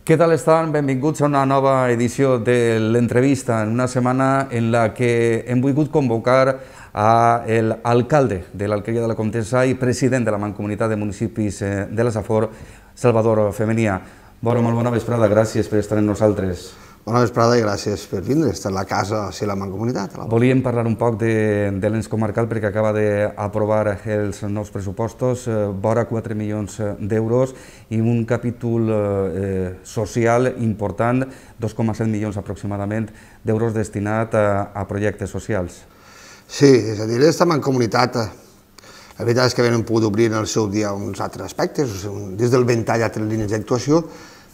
Què tal estan? Benvinguts a una nova edició de l'entrevista, en una setmana en la que hem volgut convocar a l'alcalde de l'Alqueria de la Comtessa i president de la Mancomunitat de Municipis de la Safor, Salvador Femenia. Molt bona vesprada, gràcies per estar amb nosaltres. Bona vesprada i gràcies per vindre, estar a la casa de la Mancomunitat. Volíem parlar un poc de l'ens comarcal perquè acaba d'aprovar els nous pressupostos, vora 4 milions d'euros i un capítol social important, 2,7 milions aproximadament d'euros destinat a projectes socials. Sí, és a dir, aquesta Mancomunitat, la veritat és que havien pogut obrir en el seu dia uns altres aspectes, des del ventall altres línies d'actuació,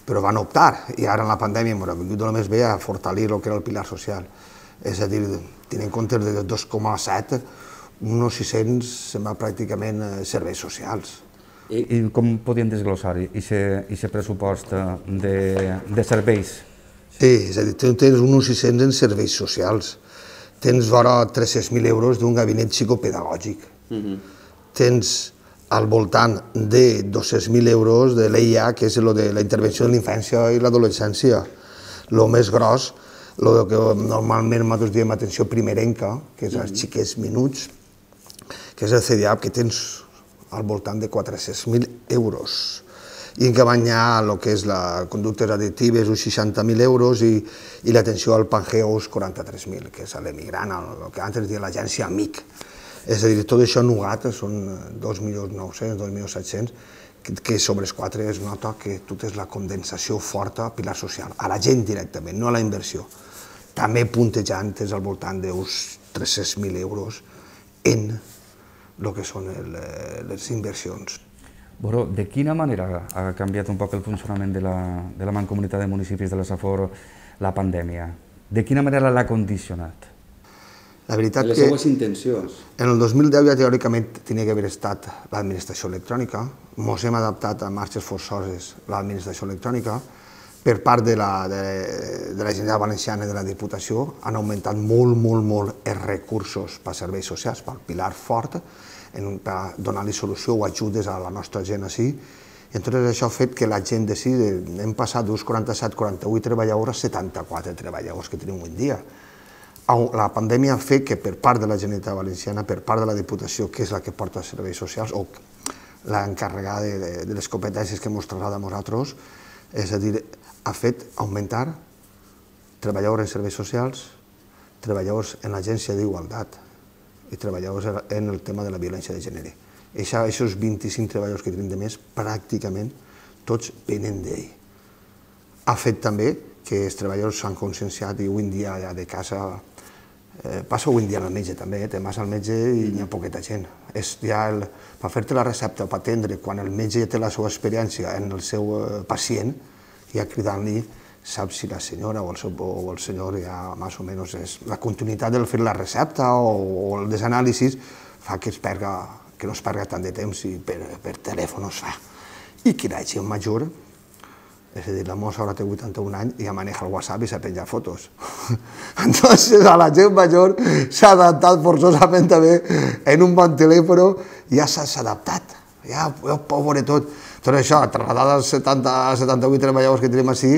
però van optar, i ara en la pandèmia m'ho ha vingut només bé a fortalir el que era el pilar social. És a dir, tenint en compte de 2,7, uns 600 sembla pràcticament serveis socials. I com podien desglossar aquest pressupost de serveis? Sí, és a dir, tens uns 600 en serveis socials, tens vora 300.000 euros d'un gabinet psicopedagògic, tens al voltant de 200.000 euros de l'EIA, que és de la intervenció de la infància i l'adolescència. El més gros, el que normalment nosaltres diem atenció primerenca, que és els xiquets minuts, que és el CDAP, que tens al voltant de 400.000 euros. I en canvi hi ha el que és la conductes addictives, uns 60.000 euros, i l'atenció al Pangeo, uns 43.000, que és l'emigrant, el que antes deia l'agència AMIC. És a dir, tot això nugat són 2.900.000, 2.700.000, que sobre els 4 es nota que tot és la condensació forta a pilar social, a la gent directament, no a la inversió. També puntejant és al voltant d'uns 300.000 euros en el que són les inversions. De quina manera ha canviat un poc el funcionament de la Mancomunitat de Municipis de la Safor la pandèmia? De quina manera l'ha condicionat? La veritat que les seues intencions. En el 2010 ja teòricament tenia que haver estat l'administració electrònica, ens hem adaptat a marxes forçoses l'administració electrònica, per part de la Generalitat Valenciana i de la Diputació han augmentat molt els recursos per a serveis socials, pel pilar fort, per donar-li solució o ajudes a la nostra gent així, i entonces això ha fet que la gent d'ací, hem passat d'uns 47-48 treballadors a 74 treballadors que tenim avui en dia. La pandèmia ha fet que per part de la Generalitat Valenciana, per part de la Diputació, que és la que porta els serveis socials, o l'encarregada de les competències que ens traslada a nosaltres, és a dir, ha fet augmentar treballadors en serveis socials, treballadors en l'agència d'igualtat i treballadors en el tema de la violència de gènere. Aquests 25 treballadors que tenim de més, pràcticament tots venen d'ell. Ha fet també que els treballadors s'han conscienciat i avui en dia ja de casa passa avui en dia al metge també, te vas al metge i hi ha poqueta gent. Per fer-te la recepta o per atendre, quan el metge ja té la seva experiència en el seu pacient, ja cridant-li, sap si la senyora o el senyor ja més o menys és la continuïtat del fer la recepta o el desanàlisis fa que no es perga tant de temps i per telèfon es fa. I que la gent major, és a dir, la mossa ara té 81 anys i ja maneja el WhatsApp i s'ha penjat fotos. Entonces a la gent major s'ha adaptat forçosament també en un bon telèfon, ja s'ha adaptat, ja ho veure tot. Tot això, trasladat als 78 treballadors que tenim així,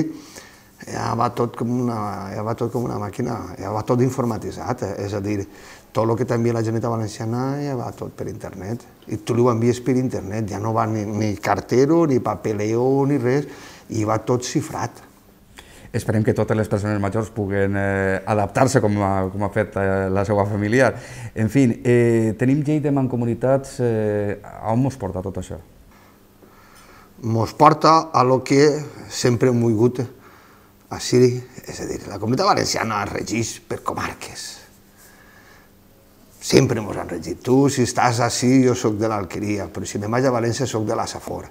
ja va tot com una màquina, ja va tot informatitzat, és a dir, tot el que t'envia la Generalitat Valenciana ja va tot per internet, i tu li ho envies per internet, ja no va ni cartero, ni papeleo, ni res, i va tot xifrat. Esperem que totes les persones majors puguen adaptar-se com ha fet la seva familiar. En fi, tenim llei de mancomunitats, on ens porta tot això? Ens porta a lo que sempre hem volgut així, és a dir, la Comunitat Valenciana es regeix per comarques. Sempre ens han regit. Tu, si estàs així, jo soc de l'Alqueria, però si me'n vaig a València, soc de la Safor.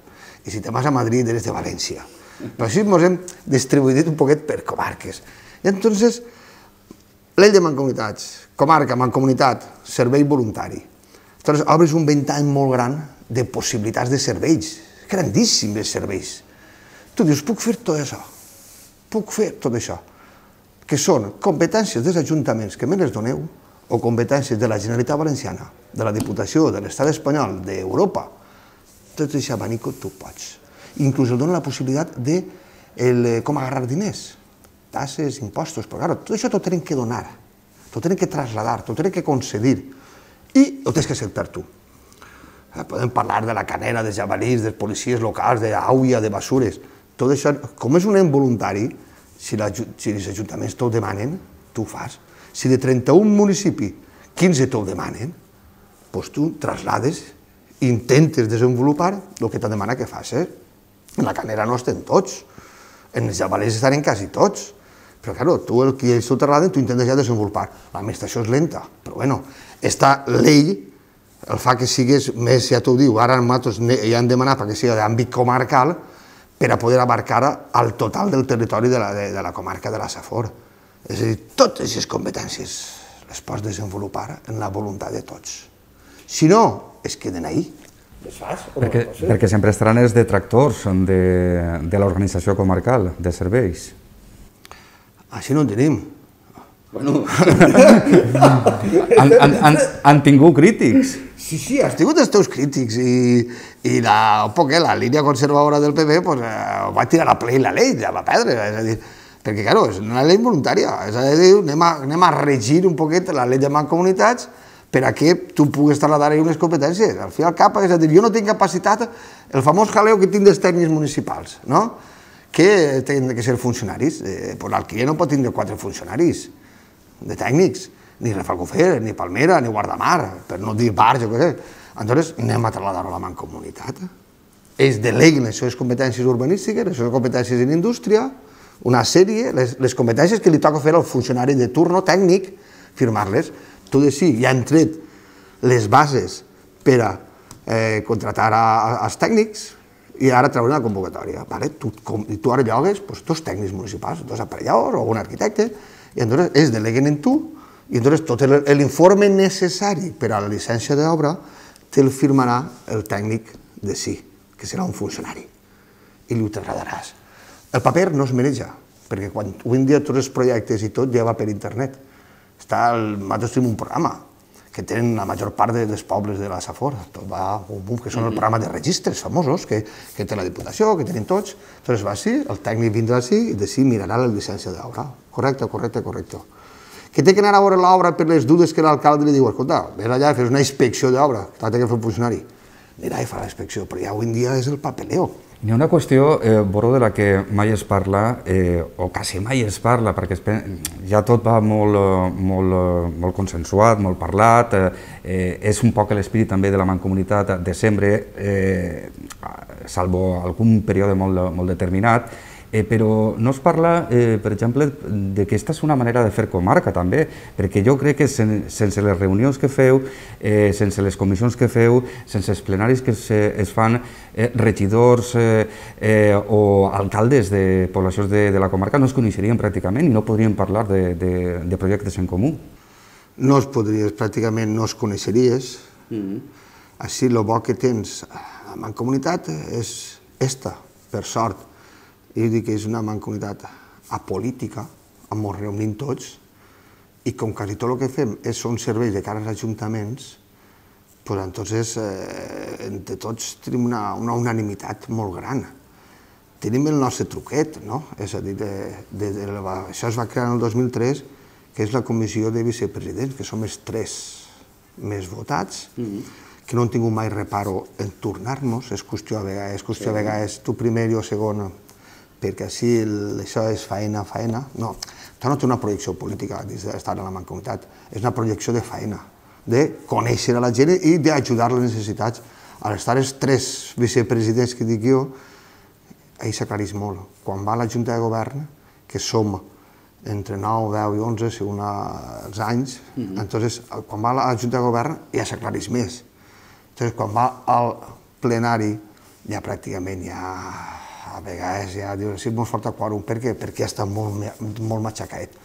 I si te'n vas a Madrid, eres de València. Però així ens hem distribuït un poquet per comarques. I entonces, llei de mancomunitats, comarca, mancomunitat, servei voluntari. Entonces, obres un ventall molt gran de possibilitats de serveis, grandíssims serveis. Tu dius, puc fer tot això? Puc fer tot això? Que són competències dels ajuntaments que me les doneu, o competències de la Generalitat Valenciana, de la Diputació, de l'Estat espanyol, d'Europa, tot aquest abanico tu pots. Inclús et dona la possibilitat de com agarrar diners, tasses, impostos, però clar, tot això t'ho tenen que donar, t'ho tenen que traslladar, t'ho tenen que concedir i ho tens que acceptar tu. Podem parlar de la canera, de jabalís, dels policies locals, d'àuia, de basures, tot això, com és un involuntari, si els ajuntaments t'ho demanen, tu ho fas. Si de 31 municipis 15 t'ho demanen, doncs tu traslades i intentes desenvolupar el que t'ha demanat que fas. En la canera no estem tots, en els jabalers estarem quasi tots, però clar, tu el que ells t'ho trasladen, tu intentes ja desenvolupar. L'administració és lenta, però bueno, esta llei el fa que sigues més, ja t'ho diu, ara nosaltres ja hem demanat perquè sigui d'àmbit comarcal per a poder abarcar el total del territori de la comarca de la Safor. És a dir, totes aquestes competències les pots desenvolupar en la voluntat de tots. Si no, es queden ahí. Perquè sempre estaran els detractors de l'organització comarcal de serveis. Així no en tenim. Bueno, han tingut crítics. Sí, has tingut els teus crítics i la línia conservadora del PP va tirar a ple la llei, la va perdre, és a dir, perquè, clar, és una llei voluntària, és a dir, anem a regir un poquet la llei de mancomunitats per a que tu puguis trasladar unes competències. Al fi i al cap, és a dir, jo no tinc capacitat, el famós jaleo que tinc dels tècnics municipals, no? Que tenen que ser funcionaris. L'Alqueria no pot tindre 4 funcionaris de tècnics, ni Rafelcofer, ni Palmera, ni Guardamar, per no dir Barge, o què sé. Aleshores, anem a trasladar-ho a la mancomunitat. Ells deleguen les seves competències urbanístiques, les seves competències en indústria, una sèrie, les competències que li toca fer al funcionari de turno tècnic, firmar-les. Tot així, ja han tret les bases per a contratar els tècnics i ara treure una convocatòria. Tu ara llogues dos tècnics municipals, 2 aparelladors o un arquitecte, i llavors es deleguen en tu, i llavors tot l'informe necessari per a la llicència d'obra te'l firmarà el tècnic de sí, que serà un funcionari, i li ho trasladaràs. El paper no es maneja, perquè quan avui en dia tots els projectes i tot ja va per internet. Nosaltres tenim un programa que tenen la major part dels pobles de la Safor, que són el programa de registres famosos que té la Diputació, que tenen tots. Llavors va així, el tècnic vindrà així i d'ací mirarà la llicència d'obra. Correcte. Que té que anar a veure l'obra per les dudes que l'alcalde li diu, escolta, vés allà i fes una inspecció d'obra, que l'ha de fer el funcionari. Anirà i farà la inspecció, però ja avui en dia és el papeleo. Hi ha una qüestió, Boró, de la que mai es parla, o quasi mai es parla, perquè ja tot va molt consensuat, molt parlat, és un poc l'espirit també de la mancomunitat de sempre, salvo algun període molt determinat, però no es parla, per exemple, que aquesta és una manera de fer comarca també, perquè jo crec que sense les reunions que feu, sense les comissions que feu, sense els plenaris que es fan, regidors o alcaldes de poblacions de la comarca no es coneixerien pràcticament i no podrien parlar de projectes en comú. No es podries, pràcticament no es coneixeries. Així, el bo que tens a la mancomunitat és esta, per sort. Jo dic que és una mancomunitat apolítica, on ens reunim tots, i com quasi tot el que fem són serveis de cara als ajuntaments, doncs entonces entre tots tenim una unanimitat molt gran. Tenim el nostre truquet, no? És a dir, això es va crear en el 2003, que és la comissió de vicepresidents, que som els 3 més votats, que no hem tingut mai reparo en tornar-nos, és qüestió a vegades tu primer i jo segon, perquè així això és faena. No, això no té una projecció política d'estar a la mancomunitat, és una projecció de faena, de conèixer a la gent i d'ajudar les necessitats. Al estar els 3 vicepresidents que dic jo, ahir s'aclarís molt. Quan va a la Junta de Govern, que som entre 9, 10 i 11, segons els anys, entonces, quan va a la Junta de Govern ja s'aclarís més. Entonces, quan va al plenari, ja pràcticament a vegades ja diu, sí, molt falta quòrum. Per què? Perquè està molt matxacat.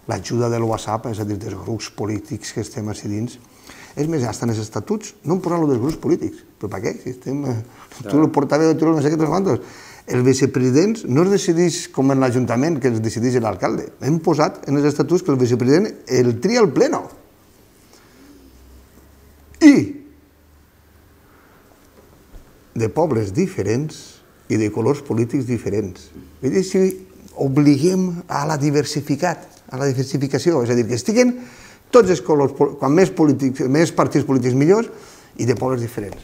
L'ajuda del WhatsApp, és a dir, dels grups polítics que estem així dins, és més, ja estan els estatuts, no hem posat-lo dels grups polítics, però per què? Si estem, tu el portaveu, tu no sé què, quantos. Els vicepresidents no es decideix com en l'Ajuntament, que els decideix l'alcalde. Hem posat en els estatuts que el vicepresident el tria al pleno. I de pobles diferents i de colors polítics diferents. Vull dir, si obliguem a la diversificació, és a dir, que estiguen tots els colors, quan més partits polítics millors, i de pobles diferents.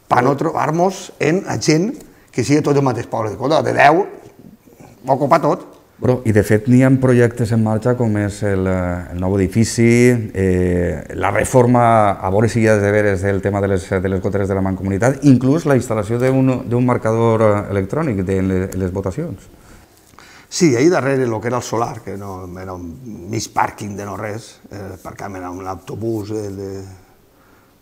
Per no trobar-nos en gent que sigui tot el mateix poble. De 10, va ocupar tot. I de fet n'hi ha projectes en marxa com és el nou edifici, la reforma, a veure si hi ha deberes del tema de les goteres de la Mancomunitat, inclús la instal·lació d'un marcador electrònic de les votacions. Sí, ahir darrere el que era el solar, que no era un mig pàrquing de no res, aparcàvem un autobús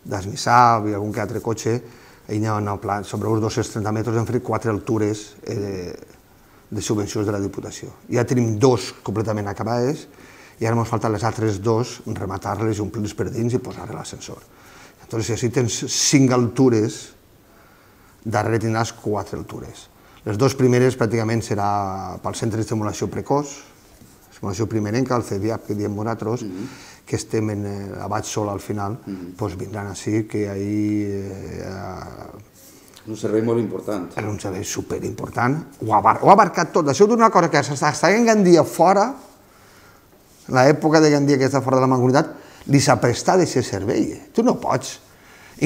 d'Esmissab i algun que altre cotxe, ahir anaven al pla, sobre uns 230 metres hem fet 4 altures de subvencions de la Diputació. Ja tenim 2 completament acabades i ara ens falten les altres 2, rematar-les, omplir-les per dins i posar-les a l'ascensor. Llavors, si tens 5 altures, darrere tindràs 4 altures. Les 2 primeres pràcticament serà pel centre d'estimulació precoç, estimulació primerenca, el CEDIAP que diem nosaltres, que estem a baix sol al final, doncs vindran així, que ahir... Un servei molt important. És un servei superimportant. Ho ha abarcat tot. Això d'una cosa que està en Gandia fora, l'època de Gandia que està fora de la Mancomunitat, li s'ha prestat aquest servei. Tu no pots.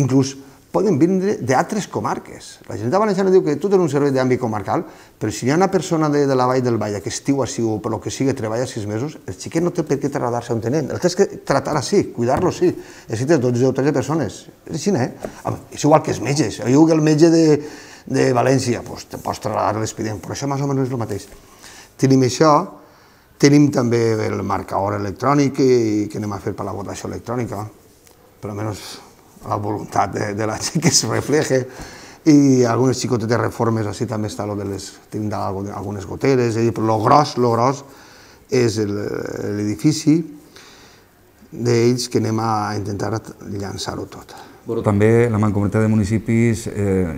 Inclús poden vindre d'altres comarques. La Generalitat Valenciana diu que tu tens un servei d'àmbit comarcal, però si hi ha una persona de la Vall del Vall que estiu així o per lo que sigui, treballa 6 mesos, el xiquet no té per què trasladar-se on tenen. El tens que tractar així, cuidar-lo així. Necessites 12 o 13 persones. És així, És igual que els metges. Jo dic que el metge de València, doncs te pots trasladar l'expedient, però això més o menys és el mateix. Tenim això, tenim també el marcador electrònic que anem a fer per la votació electrònica, per almenys la voluntat de la gent que es refleje, i algunes xicotetes reformes, així també està tenim algunes goteres, però el gros és l'edifici d'ells que anem a intentar llançar-ho tot. També la Mancomunitat de Municipis,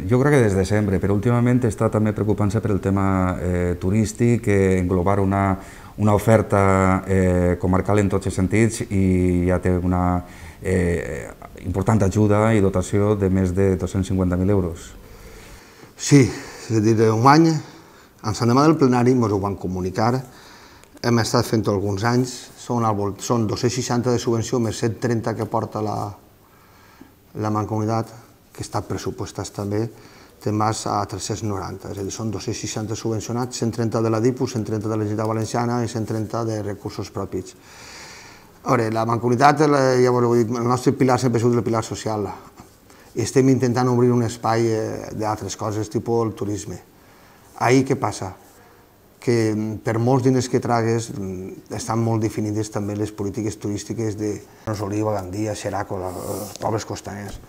jo crec que des de sempre, però últimament està també preocupant-se per el tema turístic, englobar una oferta comarcal en tots els sentits, i ja té una important ajuda i dotació de més de 250.000 euros. Sí, és a dir, un any, en l'endemà del plenari ens ho van comunicar, hem estat fent alguns anys, són 260 de subvenció més 130 que porta la Mancomunitat, que està pressupostats també, te'n vas a 390, és a dir, són 260 subvencionats, 130 de la DIPU, 130 de la Generalitat Valenciana i 130 de recursos propis. A veure, la Mancomunitat, ja ho he dit, el nostre pilar sempre ha sigut el pilar social. Estem intentant obrir un espai d'altres coses, tipus el turisme. Ahir què passa? Que per molts diners que tragues estan molt definides també les polítiques turístiques de Oliva, Gandia, Xeraco, els pobles costaners.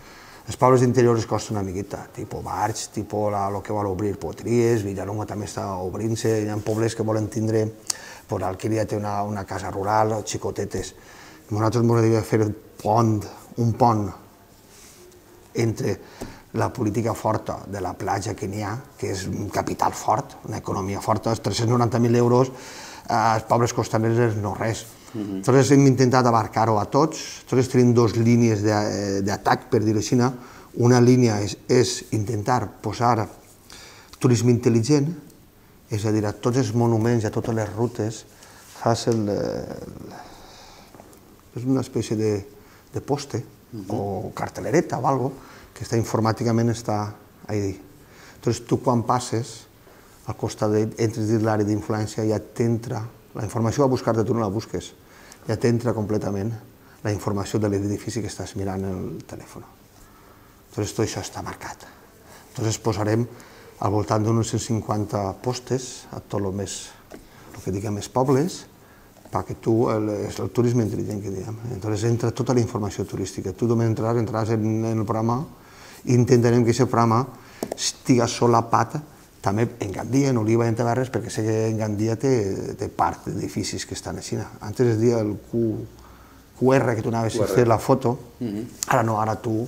Els pobles d'interior es costa una miqueta, tipus Barx, tipus el que vol obrir Potries, Villalonga també està obrint-se, hi ha pobles que volen tindre, Alqueria té una casa rural, xicotetes. Nosaltres ens agradaria fer un pont entre la política forta de la platja que n'hi ha, que és un capital fort, una economia forta, els 390.000 euros, als pobles costaners és no res. Nosaltres hem intentat abarcar-ho a tots, nosaltres tenim 2 línies d'atac, per dir-ho així. Una línia és intentar posar turisme intel·ligent, és a dir, a tots els monuments i a totes les rutes fas és una espècie de poste o cartelereta o alguna cosa que informàticament està allà. Llavors tu quan passes al costat entres dins l'àrea d'influència, ja t'entra la informació a buscar-te, tu no la busques, ja t'entra completament la informació de l'edifici que estàs mirant en el telèfon. Llavors tot això està marcat. Llavors posarem al voltant d'uns 150 postes a tot el que diguem els pobles, perquè tu, el turisme intel·ligent que diem. Llavors entra tota la informació turística. Tu només entraràs en el programa i intentarem que aquest programa estigui solapat també en Gandia, en Oliva i en Tavernes, perquè sé que en Gandia té part d'edificis que estan així. Antes es deia el QR, que tu anaves a fer la foto, ara no, ara tu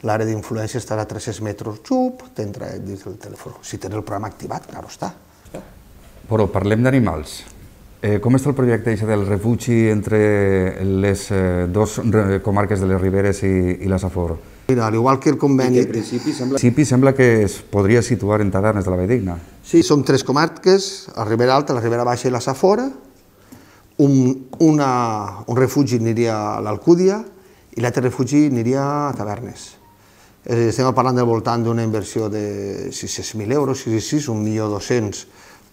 l'àrea d'influència estarà a 300 metres, xup, t'entra dins del telèfon. Si tens el programa activat, clar està. Però parlem d'animals. Com està el projecte del refugi entre les 2 comarques de les Riberes i la Safor? Mira, al igual que el conveni... En principi sembla que es podria situar en Tavernes de la Valldigna. Sí, són 3 comarques, la Ribera Alta, la Ribera Baixa i la Safora. Un refugi aniria a l'Alcúdia i l'altre refugi aniria a Tavernes. Estem parlant del voltant d'una inversió de 600.000 euros, 1.200.000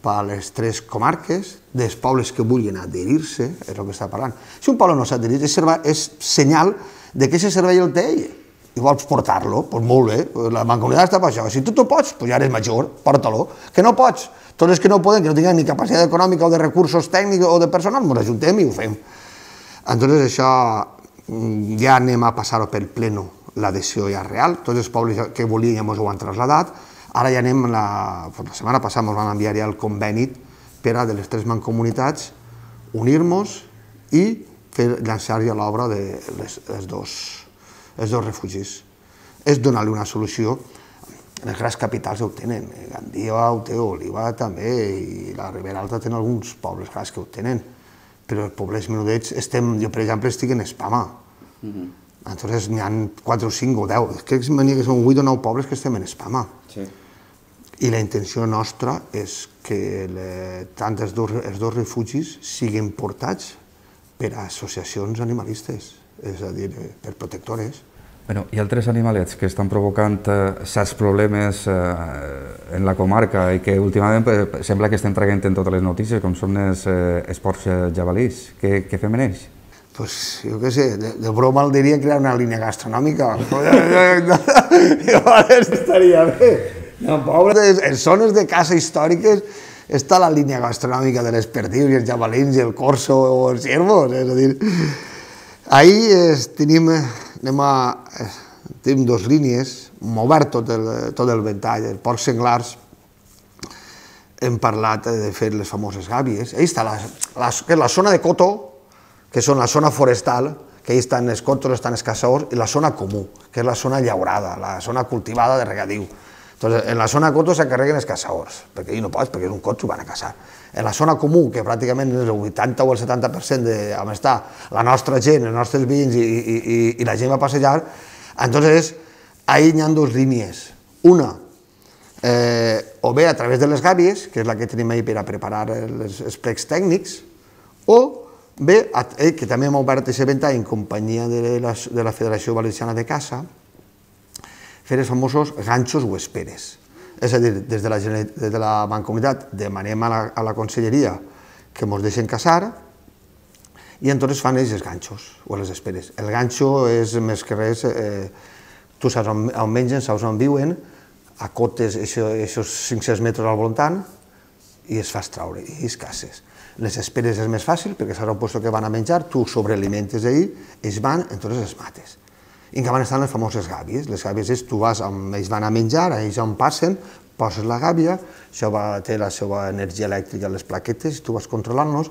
per a les 3 comarques, dels pobles que vulguin adherir-se, és el que està parlant. Si un poble no s'ha adherit, és senyal de que aquest servei el té ell, i vols portar-lo, doncs molt bé, la mancomunitat està per això. Si tu pots, doncs ja eres major, porta-lo. Que no pots, tots els que no poden, que no tinguin ni capacitat econòmica o de recursos tècnics o de personal, ens ajuntem i ho fem. Entonces això ja anem a passar-ho pel pleno, l'adhesió ja real, tots els pobles que volien ja ens ho han traslladat. Ara ja anem, la setmana passada ens van enviar ja el conveni per a de les 3 mancomunitats unir-nos i llançar ja l'obra dels dos refugis. És donar-li una solució. Les grans capitals ho tenen, Gandia ho té, Oliva també, i la Ribera Alta tenen alguns pobles grans que ho tenen, però els pobles menudets, jo per exemple estic en Espama, entonces n'hi ha 4 o 5 o 10, crec que són 8 o 9 pobles que estem en Espama. I la intenció nostra és que tant els dos refugis siguin portats per a associacions animalistes, és a dir, per protectores. Hi ha altres animalets que estan provocant certs problemes en la comarca i que últimament sembla que estem traient en totes les notícies, com són els porcs jabalís. Què fem en ells? Pues jo què sé, de broma el diria crear una línia gastronòmica. Estaria bé. No, pobres, en zones de caça històriques està la línia gastronòmica de les perdius i els jabalins i el corso o els ciervos, és a dir... Ahir tenim 2 línies, hem obert tot el ventall, els porcs senglars, hem parlat de fer les famoses gàbies. Ahí està la zona de coto, que són la zona forestal, que ahí estan els cotos, estan els caçadors, i la zona comú, que és la zona llaurada, la zona cultivada de regadiu. En la zona coto s'encarreguen els caçadors, perquè ahir no pots, perquè és un cotxe i van a caçar. En la zona comú, que pràcticament és el 80 o el 70% on està la nostra gent, els nostres veïns i la gent va passejar, entonces ahí hi ha 2 línies. Una, o bé a través de les gàbies, que és la que tenim ahir per a preparar els plecs tècnics, o bé, que també hem obert aquest ventall en companyia de la Federació Valenciana de Caça, fer els famosos ganxos o esperes. És a dir, des de la Mancomunitat demanem a la Conselleria que ens deixen caçar i entonces fan ells els ganxos o les esperes. El ganxo és més que res, tu saps on mengen, saps on viuen, acotes aquests 500 metres al voltant i es fas traure i es caces. Les esperes és més fàcil perquè saps el lloc que van a menjar, tu sobrealimentes ahir, ells van, entonces els mates. I en canvi estan les famoses gàbies. Les gàbies és, tu vas on ells van a menjar, ells on passen, poses la gàbia, això té la seva energia elèctrica a les plaquetes, tu vas controlant-los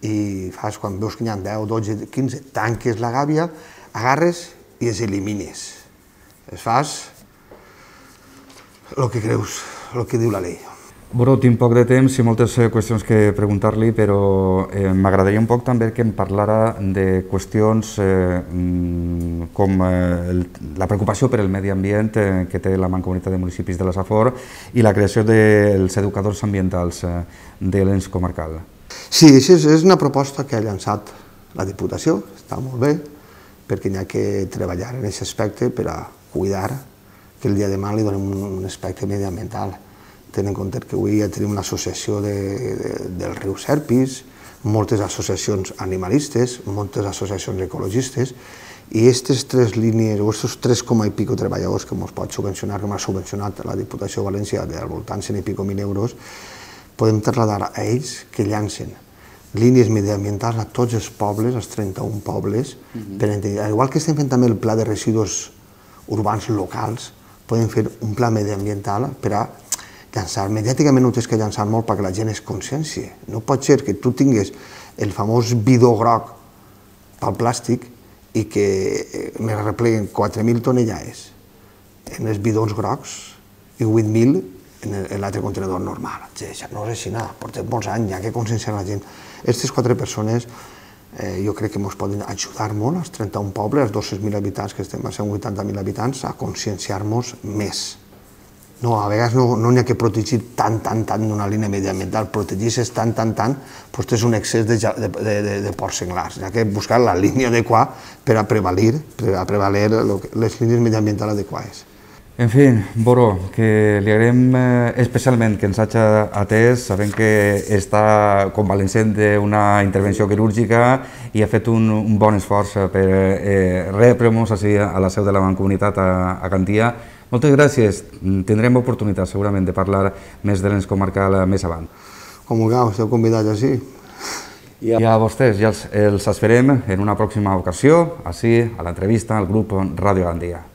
i fas, quan veus que hi ha 10, 12, 15, tanques la gàbia, agarres i els elimines. Es fas el que creus, el que diu la llei. Bueno, tinc poc de temps i moltes qüestions que preguntar-li, però m'agradaria un poc també que em parlara de qüestions com la preocupació per el medi ambient que té la Mancomunitat de Municipis de la Safor i la creació dels educadors ambientals de l'ens comarcal. Sí, això és una proposta que ha llançat la Diputació, està molt bé, perquè hi ha que treballar en aquest aspecte per a cuidar que el dia de demà li donem un aspecte mediambiental. Tenint en compte que avui ja tenim una associació del riu Serpis, moltes associacions animalistes, moltes associacions ecologistes, i aquestes 3 línies, o aquests 3 i pico treballadors que ens pot subvencionar, que m'ha subvencionat la Diputació de València del voltant 100 i pico mil euros, podem trasladar a ells que llancen línies mediambientals a tots els pobles, els 31 pobles, igual que estem fent també el pla de residus urbans locals, podem fer un pla mediambiental per a llançar. Mediàticament ho tens que llançar molt perquè la gent es conscienci. No pot ser que tu tinguis el famós bidó groc pel plàstic i que me repleguen 4.000 tonellades en els bidons grocs i 8.000 en l'altre contenedor normal. Això no és així, portem molts anys, hi ha que conscienciar la gent. Aquestes 4 persones jo crec que ens poden ajudar molt, els 31 pobles, els 200.000 habitants que estem, a 180.000 habitants, a conscienciar-nos més. No, a vegades no n'hi ha que protegir tant d'una línia mediambiental, protegir-se tant, doncs és un excés de porcs senglars. Hi ha que buscar la línia adequada per a prevaler les línies mediambientals adequades. En fi, Boro, que li agraïm especialment que ens hagi atès, sabent que està convalescent d'una intervenció quirúrgica i ha fet un bon esforç per rebre-nos a la seu de la Mancomunitat a Gandia. Moltes gràcies. Tindrem oportunitat segurament de parlar més de l'ens comarcal més avant. Com vulgueu, esteu convidats així. I a vostès ja els esperem en una pròxima ocasió, així a l'entrevista al grup Ràdio Gandia.